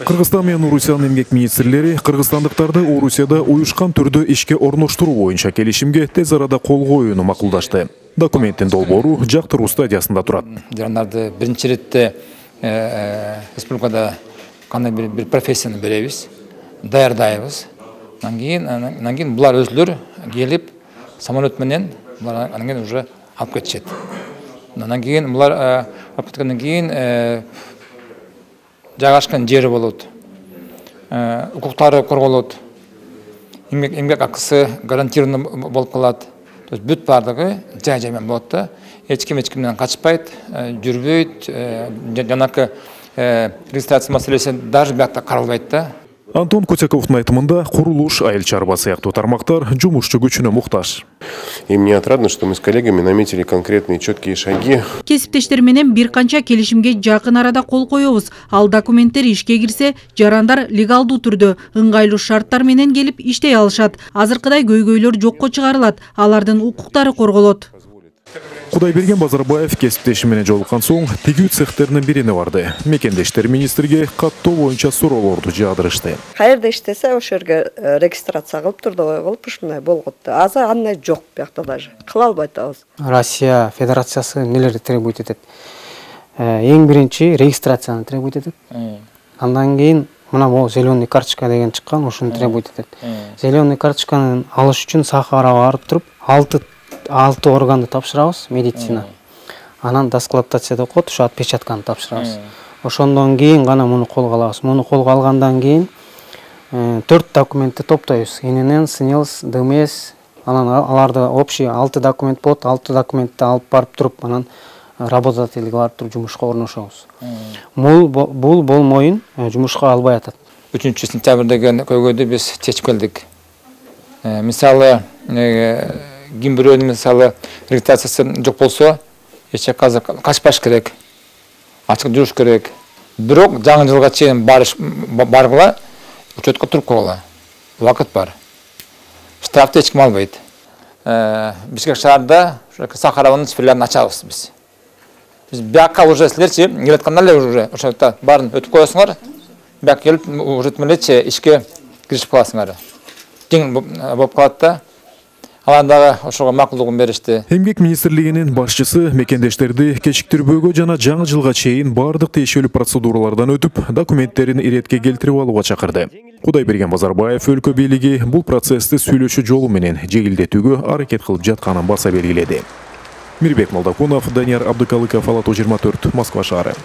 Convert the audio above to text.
Кыргызстан менен Орусиянын эмгек министрлери кыргызстандыктарды Орусияда уюшкан түрдө ишке орноштуруу боюнча келишимге тез арада кол коюуну макулдашты. Документтин долбоору жактыруу стадиясында турат. Жарандарды биринчи иретте республикада кандай бир профессияны беребиз, даярдайбыз. Анан кийин булар өзүлөр келип самолет менен булар анан кийин уже алып кетишет. Анан кийин булар алып кеткенден кийин жайгашкан жери болот, укуктары корголот, эмгек акысы гарантированный болуп калат. То есть бүт бардыгы жай менен болот да. Эч кимден качпайт, жүрбөйт, жанакы регистрация маселеси даже биякта каралбайт да. Антон Кутяковдун айтымында курулуш, айыл чарба сыяктуу тармактар жумушчу күчүнө муктаж. И мне отрадно, что мы с коллегами наметили конкретные четкие шаги. Кесиптештер менен бир канча келишимге жакын арада кол коебуз. Ал документтер ишке кирсе, жарандар легалдуу түрдө ыңгайлуу шарттар менен келип иштей алышат. Азыркыдай көйгөйлөр жокко чыгарылат, алардын укуктары корголот. Кудайберген Базарбаев кесиптеши менен жолуккан соң тигүү цехтеринин бирине барды. Мекендештер министрге каттоо боюнча суроолорду жаадырышты. Каерде иштесе ошол жерге регистрация кылып трудовой кылып ушундай болгот. Азыр андай жок биякта даже. Кыла албайт атабыз. Россия Федерациясы нелерди требует этет? Эң биринчи регистрацияны требует этет. Андан кийин мына могу зеленый карточка деген чыккан, ошону требует этет. Зеленый карточканы алыш үчүн Сахарага барып туруп 6 органды тапшырабыз, медицина. Анан дисквалификация деп коет, ошо отпечатканы тапшырабыз. Ошондон кийин гана муну колго алабыз. Муну колго алгандан кийин 4 документти топтойбуз. ИНН, СНИЛС, ДМС, анан аларды общий 6 документ болот. 6 документти алып барып туруп, анан работодателге барып туруп жумушка орношобуз. Бул болмойун жумушка албай атат. 3 сентябрь деген көйгөйдү биз чечип келдик. Мисалы ким бирөөнүн мисалы регистрациясы жок болсо, эче казыр качпаш керек, ачык жүрүш керек. Бирок жаңы жылга чейин баргыла, учетко туруп койгула. Убакыт бар. Штрафты эч ким албайт. Бишкек шаарда Сахаранын филиалын ачабыз биз. Биз бияка уже силерчи келатканда эле уже ошо жерде баарын өтүп коесуңар. Бияка келип уже тмелечи ишке киришип каласыңар. Жеңил болуп калат да. Алардагы ошого макулдугун беришти. Эмгек министрлигинин башчысы мекендештерди кечиктирбөөгө жана жаңы жылга чейин бардык тиешелүү процедуралардан өтүп, документтерин иретке келтирип алууга чакырды. Кудайберген Базарбаев өлкө бийлиги бул процессти сүйлөшүү жолу менен жеңилдетүүгө аракет кылып жатканын баса белгиледи. Мирбек Молдокунов, Данияр Абдыкалыков, Ала 24, Москва шаары.